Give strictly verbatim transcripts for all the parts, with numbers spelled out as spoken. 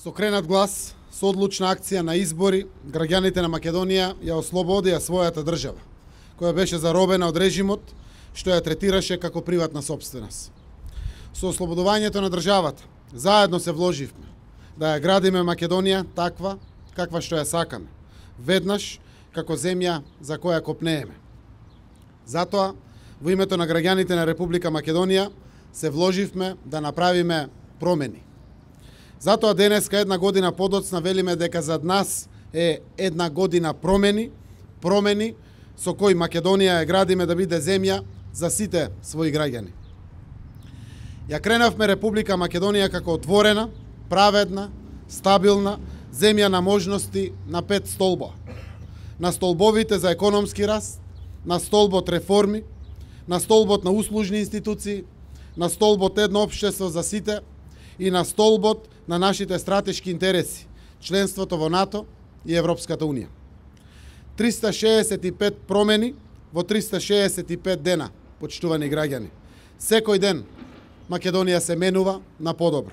Со кренат глас, со одлучна акција на избори, граѓаните на Македонија ја ослободија својата држава, која беше заробена од режимот, што ја третираше како приватна сопственост. Со ослободувањето на државата, заедно се вложивме да ја градиме Македонија таква каква што ја сакаме, веднаш како земја за која копнееме. Затоа, во името на граѓаните на Република Македонија, се вложивме да направиме промени. Затоа денеска, една година подоцна, велиме дека зад нас е една година промени, промени со кои Македонија ја градиме да биде земја за сите своји граѓани. Ја кренавме Република Македонија како отворена, праведна, стабилна земја на можности на пет столба. На столбовите за економски раст, на столбот реформи, на столбот на услужни институции, на столбот едно општество за сите и на столбот на нашите стратешки интереси, членството во НАТО и Европската Унија. триста шеесет и пет промени во триста шеесет и пет дена, почитувани граѓани. Секој ден Македонија се менува на подобро.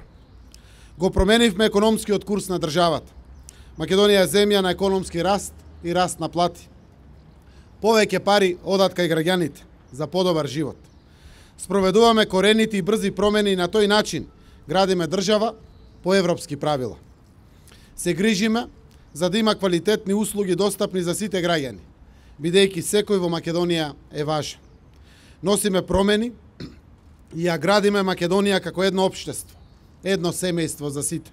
Го променивме економскиот курс на државата. Македонија е земја на економски раст и раст на плати. Повеќе пари одат кај граѓаните за подобар живот. Спроведуваме корените и брзи промени и на тој начин градиме држава по европски правила. Се грижиме за да има квалитетни услуги достапни за сите граѓани, бидејќи секој во Македонија е важен. Носиме промени и ја градиме Македонија како едно општество, едно семејство за сите.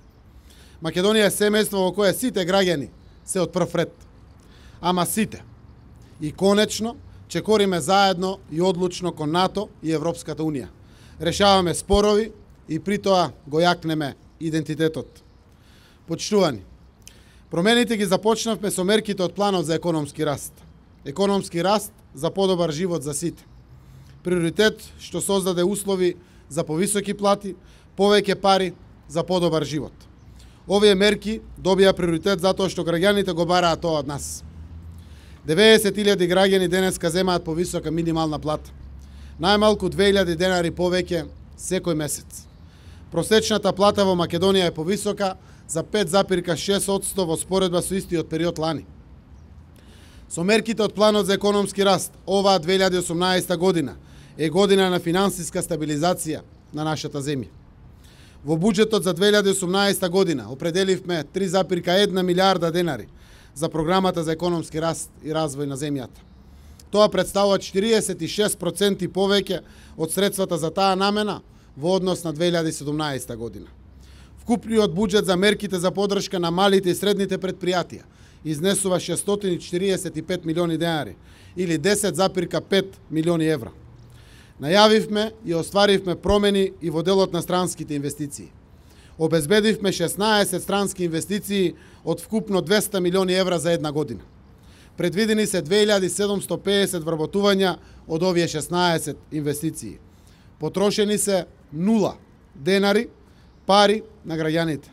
Македонија е семејство во кое сите граѓани се од прв ред, ама сите. И конечно, чекориме заедно и одлучно кон НАТО и Европската Унија. Решаваме спорови и при тоа го јакнеме идентитетот. Почитувани, промените ги започнавме со мерките од планот за економски раст. Економски раст за подобар живот за сите. Приоритет што создаде услови за повисоки плати, повеќе пари за подобар живот. Овие мерки добија приоритет затоа што граѓаните го бараат тоа од нас. деветдесет илјади граѓани денеска земаат повисока минимална плата. Најмалку две илјади денари повеќе секој месец. Просечната плата во Македонија е повисока за пет запирка шест одсто во споредба со истиот период лани. Со мерките од планот за економски раст, оваа две илјади и осумнаесета година е година на финансиска стабилизација на нашата земја. Во буџетот за две илјади и осумнаесета година определивме три запирка една милијарда денари за програмата за економски раст и развој на земјата. Тоа представува четириесет и шест проценти повеќе од средствата за таа намена во однос на две илјади и седумнаесета година. Вкупниот буџет за мерките за поддршка на малите и средните предпријатија изнесува шестстотини и четириесет и пет милиони денари или десет запирка пет милиони евра. Најавивме и остваривме промени и во делот на странските инвестиции. Обезбедивме шеснаесет странски инвестиции од вкупно двесте милиони евра за една година. Предвидени се две илјади седумсто педесет вработувања од овие шеснаесет инвестиции. Потрошени се нула денари, пари на граѓаните.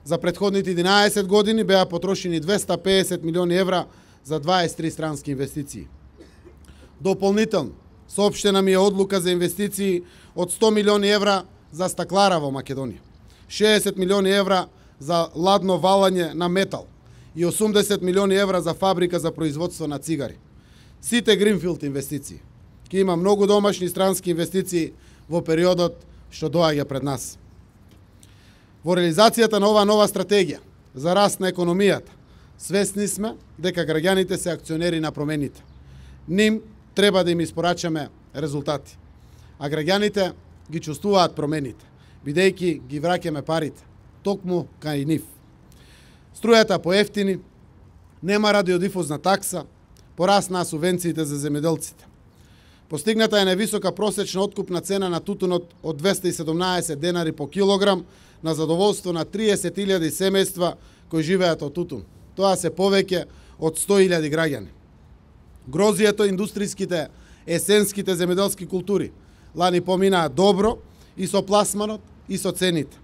За претходните единаесет години беа потрошени двесте педесет милиони евра за дваесет и три странски инвестиции. Дополнително, соопштена ми е одлука за инвестиции од сто милиони евра за стаклара во Македонија, шеесет милиони евра за ладно валање на метал и осумдесет милиони евра за фабрика за производство на цигари. Сите гринфилд инвестиции. Ке има многу домашни странски инвестиции во периодот што доаѓа пред нас. Во реализацијата на оваа нова стратегија за раст на економијата, свесни сме дека граѓаните се акционери на промените. Ним треба да им испорачаме резултати, а граѓаните ги чувствуваат промените, бидејќи ги враќаме парите, токму кај нив. Струјата поевтини, нема радиодифузна такса, пораснаа субвенциите за земјоделците. Постигната е највисока просечна откупна цена на тутунот од двесте и седумнаесет денари по килограм на задоволство на триесет илјади семејства кои живеат од тутун. Тоа се повеќе од сто илјади граѓани. Грозието, индустриските, есенските земјоделски култури лани поминаа добро и со пласманот и со цените.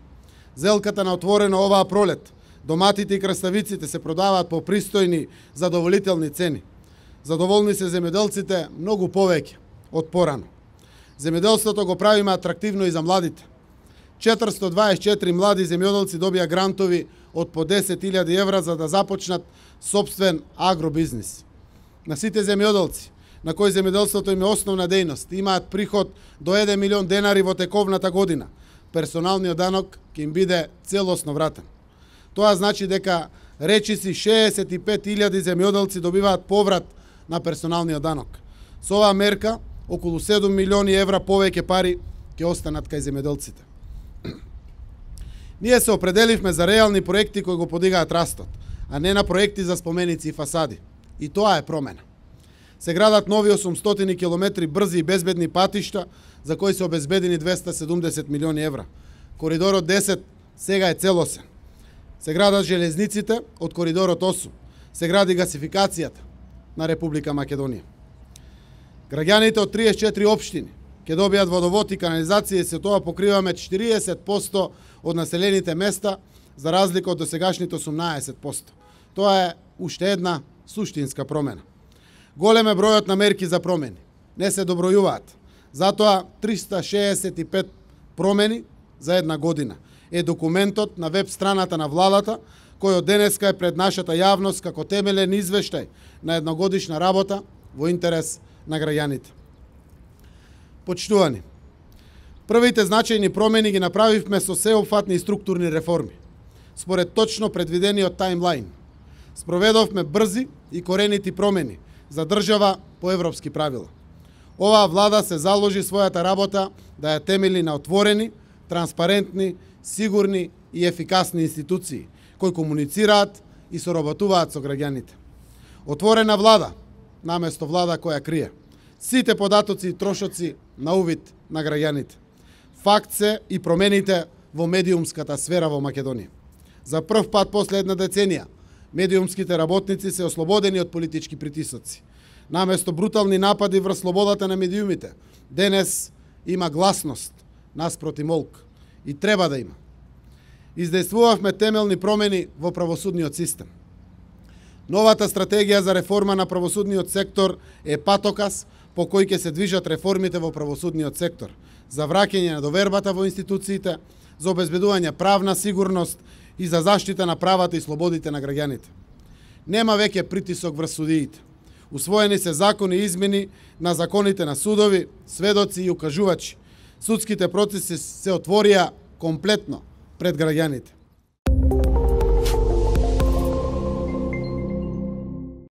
Зелката на отворено оваа пролет, доматите и краставиците се продаваат по пристојни, задоволителни цени. Задоволни се земјоделците многу повеќе од порано. Земјоделството го правиме атрактивно и за младите. четиристотини дваесет и четири млади земјоделци добија грантови од по десет илјади евра за да започнат сопствен агробизнис. На сите земјоделци, на кои земјоделството им е основна дејност, имаат приход до еден милион денари во тековната година, персоналниот данок ќе им биде целосно вратен. Тоа значи дека речиси шеесет и пет илјади земјоделци добиваат поврат на персоналниот данок. Со оваа мерка, околу седум милиони евра повеќе пари ќе останат кај земјоделците. Ние се определивме за реални проекти кои го подигаат растот, а не на проекти за споменици и фасади. И тоа е промена. Се градат нови осумстотини километри брзи и безбедни патишта, за кои се обезбедени двеста и седумдесет милиони евра. Коридорот десет сега е целосен. Се градат железниците од коридорот осум. Се гради гасификацијата на Република Македонија. Граѓаните од триесет и четири општини ќе добијат водовод и канализација и се тоа покриваме четириесет проценти од населените места, за разлика од досегашните осумнаесет проценти. Тоа е уште една суштинска промена. Голем е бројот на мерки за промени. Не се добројуваат. Затоа триста шеесет и пет промени за една година е документот на веб страната на владата, кој од денеска е пред нашата јавност како темелен извештај на едногодишна работа во интерес на граѓаните. Почитувани, првите значајни промени ги направивме со сеопфатни и структурни реформи, според точно предвидениот таймлайн. Спроведовме брзи и коренити промени за држава по европски правила. Оваа влада се заложи својата работа да ја темели на отворени, транспарентни, сигурни и ефикасни институции, кои комуницираат и соработуваат со граѓаните. Отворена влада, наместо влада која крие. Сите податоци и трошоци на увид на граѓаните. Факт се и промените во медиумската сфера во Македонија. За прв пат после една деценија, медиумските работници се ослободени од политички притисоци. Наместо брутални напади врз слободата на медиумите, денес има гласност наспроти молк. И треба да има. Издействувавме темелни промени во правосудниот систем. Новата стратегија за реформа на правосудниот сектор е патоказ по кој ќе се движат реформите во правосудниот сектор, за враќање на довербата во институциите, за обезбедување правна сигурност и за заштита на правата и слободите на граѓаните. Нема веќе притисок врз судиите. Усвоени се закони и измени на законите на судови, сведоци и укажувачи. Судските процеси се отворија комплетно пред граѓаните.